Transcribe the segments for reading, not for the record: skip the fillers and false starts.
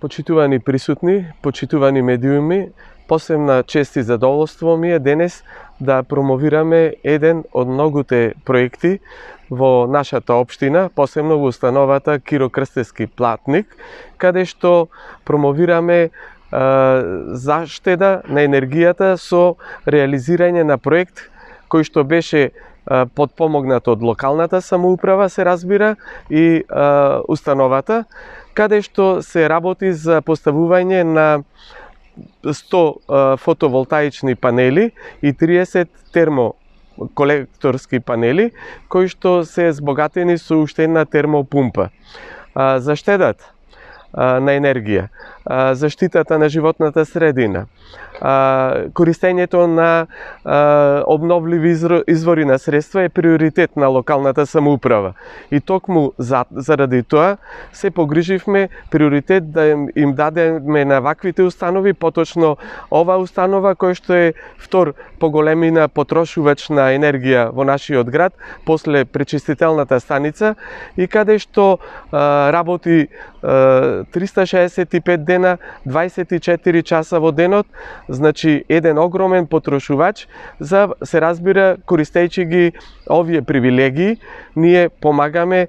Почитувани присутни, почитувани медиуми, посебна чест и задоволство ми е денес да промовираме еден од многуте проекти во нашата општина, посебно во установата Киро Крстевски платник, каде што промовираме заштеда на енергијата со реализирање на проект кој што беше подпомогнат од локалната самоуправа, се разбира, и установата, каде што се работи за поставување на 100 фотоволтаични панели и 30 термоколекторски панели, кои што се збогатени со уште една термопумпа. Заштедата на енергија, заштитата на животната средина, користењето на обновливи извори на средства е приоритет на локалната самоуправа. И токму заради тоа се погриживме приоритет да им дадеме на ваквите установи, поточно ова установа која што е втор по големина потрошувач на енергија во нашиот град, после пречистителната станица, и каде што работи 365 дена, 24 часа во денот, значи еден огромен потрошувач, за се разбира, користејќи ги овие привилегии, ние помагаме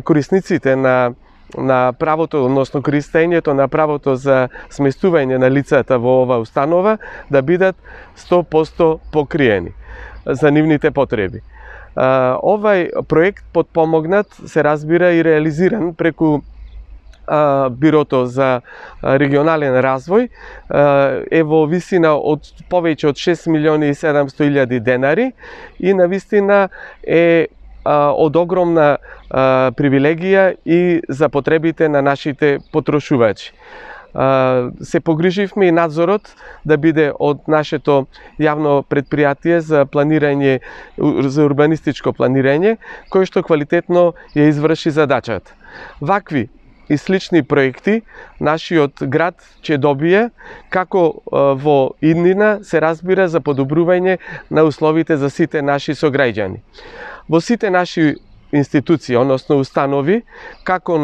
корисниците на правото, односно користењето на правото за сместување на лицата во ова установа да бидат 100% покриени за нивните потреби. Овај проект подпомогнат, се разбира, и реализиран преку Бирото за регионален развој е во висина од повеќе од 6.700.000 денари и навистина е од огромна привилегија и за потребите на нашите потрошувачи. Се погриживме и надзорот да биде од нашето јавно предпријатие за планирање, за урбанистичко планирање, кој што квалитетно ја изврши задачата. Вакви и слични проекти нашиот град ќе добие, како во иднина, се разбира, за подобрување на условите за сите наши сограѓани. Во сите наши институции, односно установи, како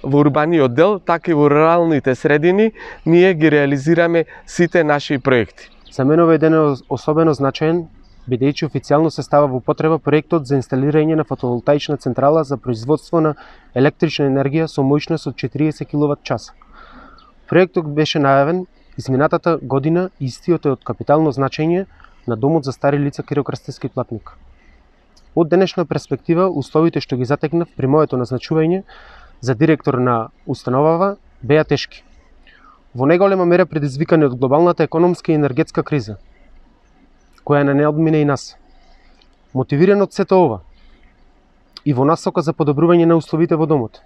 во урбаниот дел, така и во руралните средини, ние ги реализираме сите наши проекти. За мене овој ден е особено значаен, бидејќи официјално се става во употреба проектот за инсталирање на фотоволтаична централа за производство на електрична енергија со моќност од 40 киловат-часа. Проектот беше најавен изминатата година и истиот е од капитално значење на Домот за стари лица Киро Крстевски платник. Од денешна перспектива, условите што ги затекнав при моето назначување за директор на установава беа тешки. Во најголема мера предизвикани од глобалната економска и енергетска криза, која не одмине и нас. Мотивиран од сето ова и во насока за подобрување на условите во домот,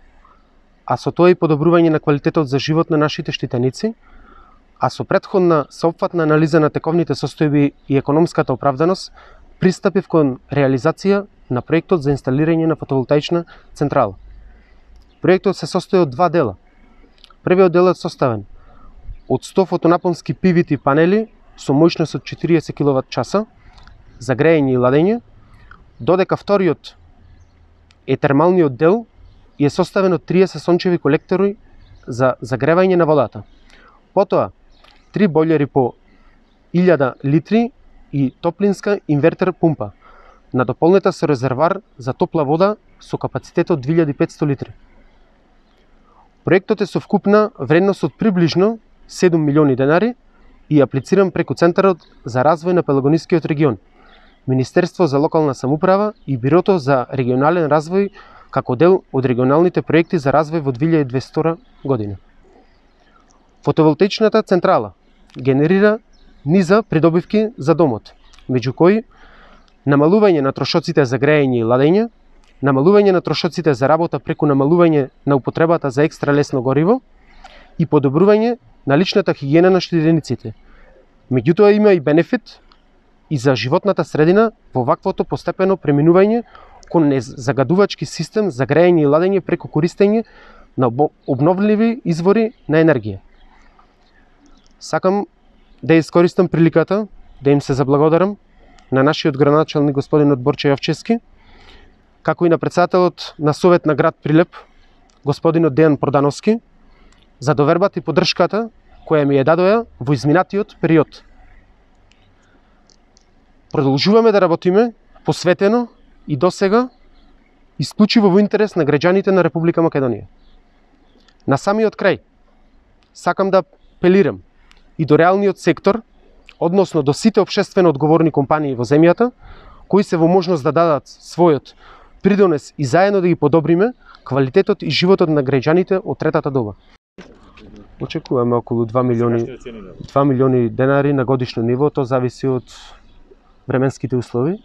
а со тоа и подобрување на квалитетот за живот на нашите штитеници, а со претходна сеопфатна анализа на тековните состојби и економската оправданост, пристапив кон реализација на проектот за инсталирање на фотоволтаична централа. Проектот се состои од два дела. Првиот дел е составен од 100 фотонапонски PVT панели со моќност од 40 киловат-часа за грејење и ладење, додека вториот е термалниот дел и е составен од 30 сончеви колектори за загревање на водата. Потоа, 3 бољери по 1000 литри и топлинска инвертер пумпа, надополнета со резервар за топла вода со капацитет од 2500 литри. Проектот е со вкупна вредност од приближно 7 милиони денари и аплициран преку Центарот за развој на Пелагонискиот регион, Министерство за локална самоуправа и Бирото за регионален развој како дел од регионалните проекти за развој во 2022 година. Фотоволтаичната централа генерира низа придобивки за домот, меѓу кои намалување на трошоците за грејење и ладење, намалување на трошоците за работа преку намалување на употребата за екстра лесно гориво и подобрување на личната хигиена на штитениците. Меѓутоа има и бенефит и за животната средина во ваквото постепено преминување кон незагадувачки систем за грејење и ладење преку користење на обновливи извори на енергија. Сакам да искористам приликата да им се заблагодарам на нашиот градоначалник господинот Борче Јовчевски, како и на председателот на Совет на град Прилеп, господинот Дејан Продановски, за довербата и поддршката која ми ја дадоа во изминатиот период. Продолжуваме да работиме посветено и досега исклучиво во интерес на граѓаните на Република Македонија. На самиот крај, сакам да апелирам и до реалниот сектор, односно до сите општествено одговорни компании во земјата, кои се во можност да дадат својот придонес и заедно да ги подобриме квалитетот и животот на граѓаните од третата доба. Очекуваме околу 2 милиони денари на годишно ниво, тоа зависи од временските услови.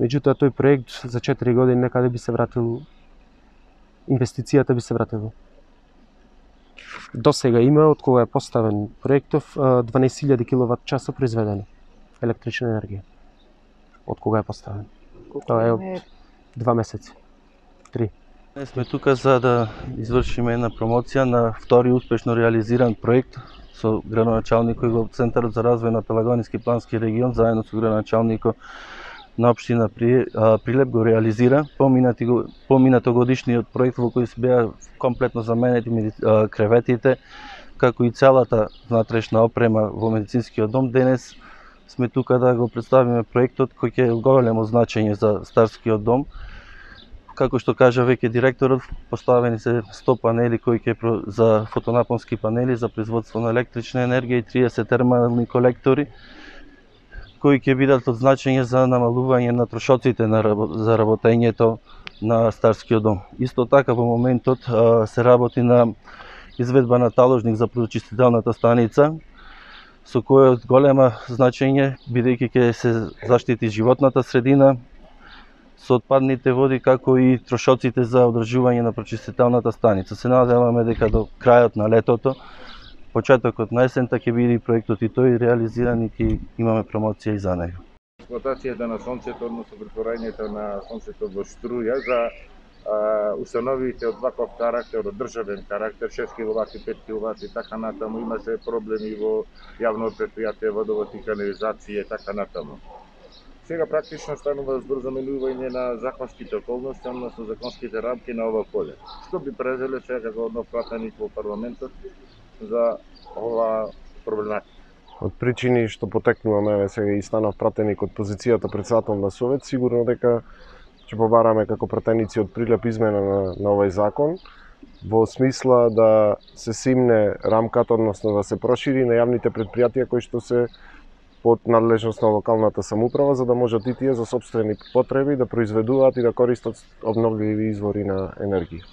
Меѓутоа, тој проект за 4 години некаде би се вратил, инвестицијата би се вратила. До сега има, од кога е поставен проектов, 12.000 киловат часа произведено електрична енергија. Од кога е поставен? Тоа е од 2 месеци. 3. Ние сме тука за да извршиме една промоција на втори успешно реализиран проект со градоначалникот во Центарот за развој на Пелагониски плански регион, заедно со градоначалникот на општина Прилеп го реализира поминато годишниот проект во кој се беа комплетно заменети креветите, како и целата внатрешна опрема во медицинскиот дом. Денес сме тука да го представиме проектот кој ќе е големо значење за старскиот дом. Како што кажа веќе директорот, поставени се 100 панели кои ќе за фотонапонски панели за производство на електрична енергија и 30 термални колектори кои ќе бидат од значење за намалување на трошоците за работењето на старскиот дом. Исто така во моментот се работи на изведба на таложник за прочистителната станица, со кој од голема значење, бидејќи ќе се заштити животната средина со отпадните води, како и трошоците за одржување на прочистителната станица. Се надеваме дека до крајот на летото, почетокот на есента ќе биде проектот и тој реализиран и ќе имаме промоција и за него. Експлоатацијата на сонцето, односно претворањето на сонцето во струја за установите од ваков карактер, од државен карактер, 6 киловати, 5 киловати, така натаму, имаше проблеми во јавно предпријатие, водовод и канализација, така натаму. Сега практично станува збор за менување на законските околности, односно законските рамки на ова поле. Што би презеле сега како нов пратеник во парламентот за ова проблематика? Од причини што потекнуваме сега и станав пратеник од позицијата председател на Совет, сигурно дека ќе побараме како пратеници од Прилеп измена на овој закон, во смисла да се симне рамката, односно да се прошири на јавните предпријатија кои што се под надлежност на локалната самоуправа, за да можат и тие за сопствени потреби да произведуваат и да користат обновливи извори на енергија.